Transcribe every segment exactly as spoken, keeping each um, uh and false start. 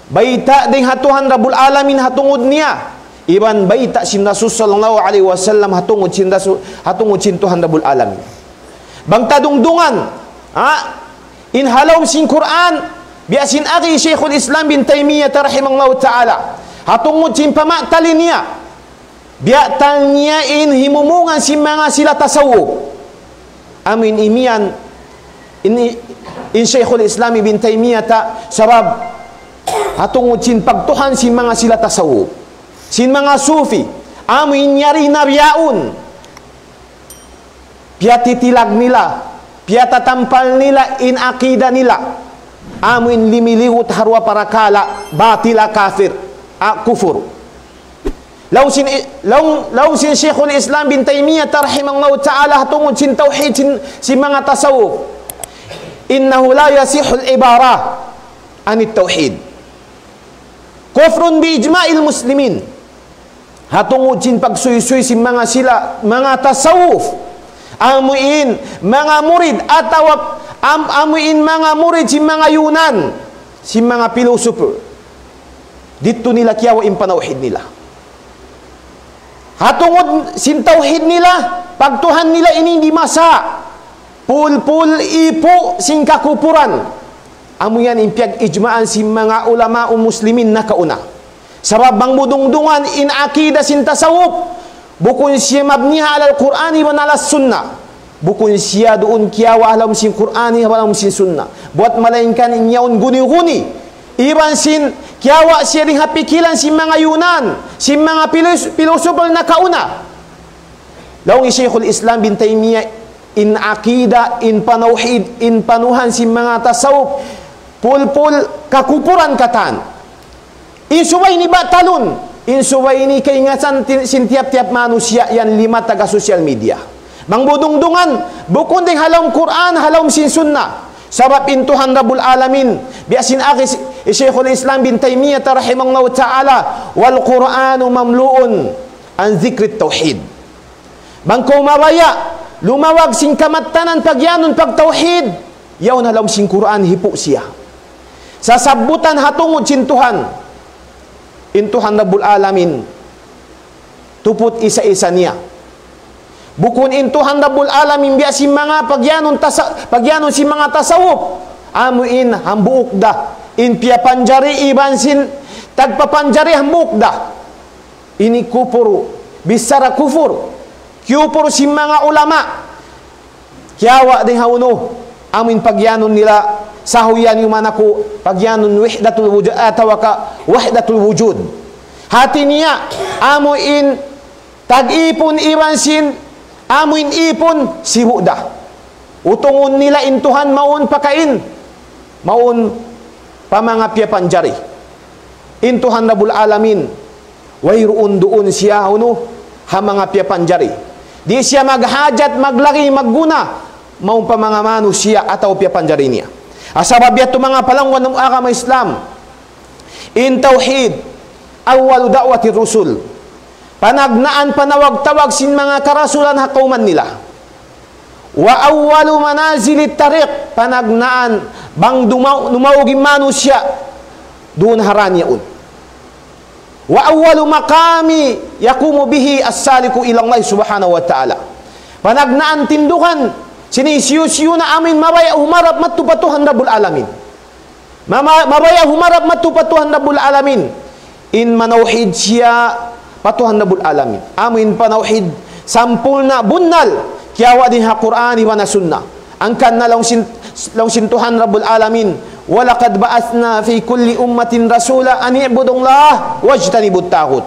Bayta' dayn ha Tuhan Rabbul Alamin ha tungud niya. Iban bayta' sin Rasul sallallahu alayhi wasallam ha tungud sin Rasul, ha tungud sin Tuhan Rabbul Alamin. Bang ta dungdungan, ha? In ha lawm sin Qur'an, biya' sin agi Shaykhul Islam bin Taymiyyah rahimahullahu ta'ala. Ha tungud sin pamatalin niya. Biya' tal niya in himumungan sin manga sila tasawuf. Amu in imiyan, in, in Shaykhul Islam Ibn Taymiyyah ta, sabab ha tungud sin pagtuhan sin manga sila tasawuf. Sin manga sufi, amu in yari na biyaun. Piyatitilag nila, piyatatampal nila in akida nila. Amu in limiliwut ha duwa parakala', batila kafir, a, kufur. Laung sin, laung, laung sin Shaykhul Islam bin Taymiyyah rahimahullahu ta'ala ha tungud sin tawhid sin, sin manga tasawuf. إنه لا يصح العبارة عن التوحيد. كفر بإجماع المسلمين. Ha tungud sin pagsuysuy sin manga sila, manga tasawuf. Amu in manga murid atawa am, amu in manga murid sin manga Yunan, sin manga pilosopo. Didtu nila kiyawa' in panawhid nila. Ha tungud sin tawhid nila, pagtuhan nila ini di' masa. Pulpul ipu sin kakupuran. Amu yan in piyag-ijma'an sin manga ulama muslimin nakauna. Sabab bang mu dungdungan in akida sin tasawuf, bukun siya mabni ala al-Qur'an iban ala sunnah. Bukun siya duun kiyawa' ha lawm sin Qur'an iban ha lawm sin sunnah. Buat malaingkan in yaun guni-guni. Iban sin kiyawa' siya dayn ha pikilan sin manga Yunan, sin manga pilos-, pilosopo nakauna. Laung hi Shaykhul Islam bin Taymiyyah, in akida, in panawhid, in panuhan sin manga tasawuf, pulpul kakupuran katan. In subay ini batalun, in subay ini kaingatan ti-, sin tiyap-tiyap manusiya' yan lima taga social media. Bang mu dungdungan, bukun dayn ha lawm Qur'an, ha lawm sin sunnah. Sabab in Tuhan Rabbul Alamin, biya' sin agi hi Shaykhul Islam bin Taymiyyah rahimahullahu ta'ala, والقرآن مملوء عن ذكر التوحيد. Bang kaw mabaya', lumawag sin kamattanan pagiyanun pagtawhid, yaun ha lawm sin Qur'an hipu' siya. Sasabbutan ha tungud sin Tuhan. In Tuhan Rabbul Alamin, tuput isa-isa niya. Bukun in Tuhan Rabbul Alamin biya' sin manga pagiyanun tasa-, pagiyanun sin manga tasawuf. Amu in hambuuk da. In piyapanjari iban sin tagpapanjari hambuuk da. Ini kupur, bichara kufur. Kiyupur sin manga ulama. Kiyawa' dayn ha unu, amu in pagiyanun nila, sahuyan yuman aku, pagiyanun wahdatul wujud, atawa ka wahdatul wujud. Hati niya, amu in tag-ipun iban sin, amu in ipun, sibu' da. Utungun nila in Tuhan mawn pakain, mawn pa manga piyapanjari. In Tuhan Rabbul Alamin, wayruun duun siya unu, ha manga piyapanjari. Di' siya maghajat, maglagi, magguna, mawn pa manga manusiya' atawa piyapanjari niya. Sabab yadtu manga palangwan agama Islam, in tawhid, أول دعوة الرسل. Panagnaan panawag-tawag sin manga karasulan ha kawman nila. وأول منازل الطريق, panagnaan bang dumaw-, dumaug in manusiya' duun ha dān yaun. وأول مقام يقوم به السالك إلى الله سبحانه وتعالى. Panagnaan tindugan sin hisiyu-siyu na amuin mabaya' humarap madtu pa Tuhan Rabbul Alamin. Mama-, mabaya' humarap madtu pa Tuhan Rabbul Alamin. In manawhid siya pa Tuhan Rabbul Alamin. Amu in panawhid sampurna' bunnal, kiyawa' dayn ha Qur'an iban ha Sunnah. Hangkan na laung sin, laung sin Tuhan Rabbul Alamin, ولقد بعثنا في كل أمة رسولا أن اعبدوا الله واجتنبوا الطاغوت.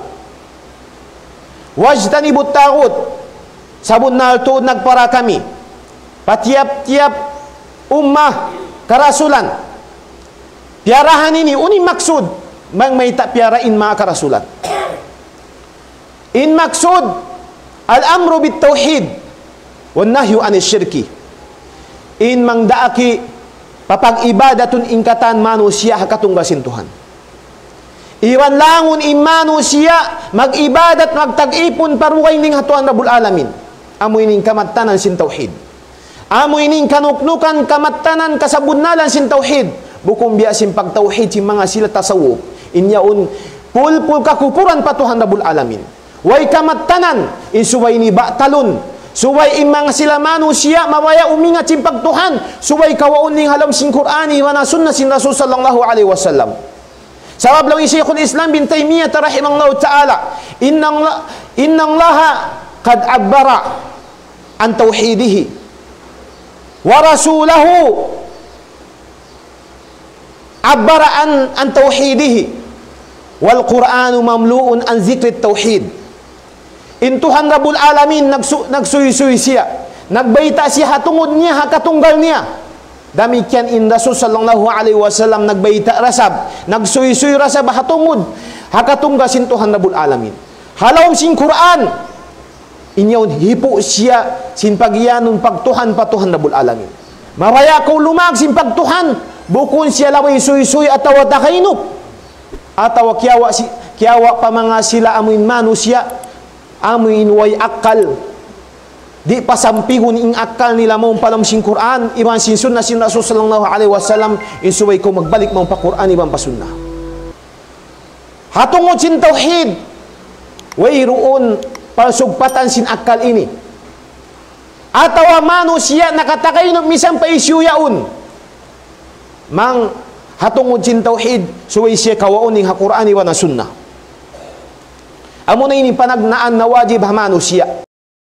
واجتنبوا الطاغوت. Sabunnal tuud nagpara kami pa tiyap-tiyap ummah karasulan. Piyarahan ini, unu in maksud bang mayta' piyara in manga karasulan? In maksud, الأمر بالتوحيد والنهي عن الشرك. In mangdaak pa pag-ibadatun in katan manusiya' ha katunggal sin Tuhan. Iban langun in manusiya' mag-ibadat, magtag-ipun pa dugaing dayn ha Tuhan Rabbul Alamin. Amu ini in kamattanan sin tawhid. Amu ini in kanuknukan, kamattanan, kasabunnalan sin tawhid. Bukun biya' sin pagtawhid sin manga sila tasawuf. In yaun pulpul kakupuran pa Tuhan Rabbul Alamin. Way kamattanan, in subay ini batalun. Subay in manga sila manusiya' mabaya' umingat sin pagtuhan. Subay kawaun in ha lawm sin Qur'an, iban ha sunna sin Rasul sallallahu alayhi wasallam. Sabab laung hi Shaykhul Islam bin Taymiyyah rahimahullahu ta'ala, إن الله، إن الله قد عبر عن توحيده ورسوله عبر عن، عن توحيده والقرآن مملوء عن ذكر التوحيد. In Tuhan Rabbul Alamin nagsu-, nagsuysuy siya. Nagbayta' siya ha tungud niya, ha katunggal niya. Damikkiyan in Rasul sallallahu alayhi wasallam nagbayta' da isab, nagsuysuy da isab ha tungud, ha katunggal sin Tuhan Rabbul Alamin. Ha lawm sin Qur'an, in yaun hipu' siya sin pagiyanun pagtuhan pa Tuhan Rabbul Alamin. Mabaya' kaw lumag sin pagtuhan, bukun siya laway suysuy atawa takaynup, atawa kiyawa' si-, kiyawa' pa manga sila amuin manusiya', amuin way akkal. Di' pasampigun in akkal nila mawn pa lawm sin Qur'an, iban sin sunna sin Rasul sallallahu alayhi wasallam, in subay kaw magbalik mawn pa Qur'an iban pa sunna. Ha tungud sin tawhid, wayruun pagsugpatan sin akkal ini. Atawa manusiya' nakatakaynub misan pa hisiyu yaun. Bang ha tungud sin tawhid, subay siya kawaun in ha Qur'an iban ha sunna. Amuna ini panagnaan na wajib ha manusiya'.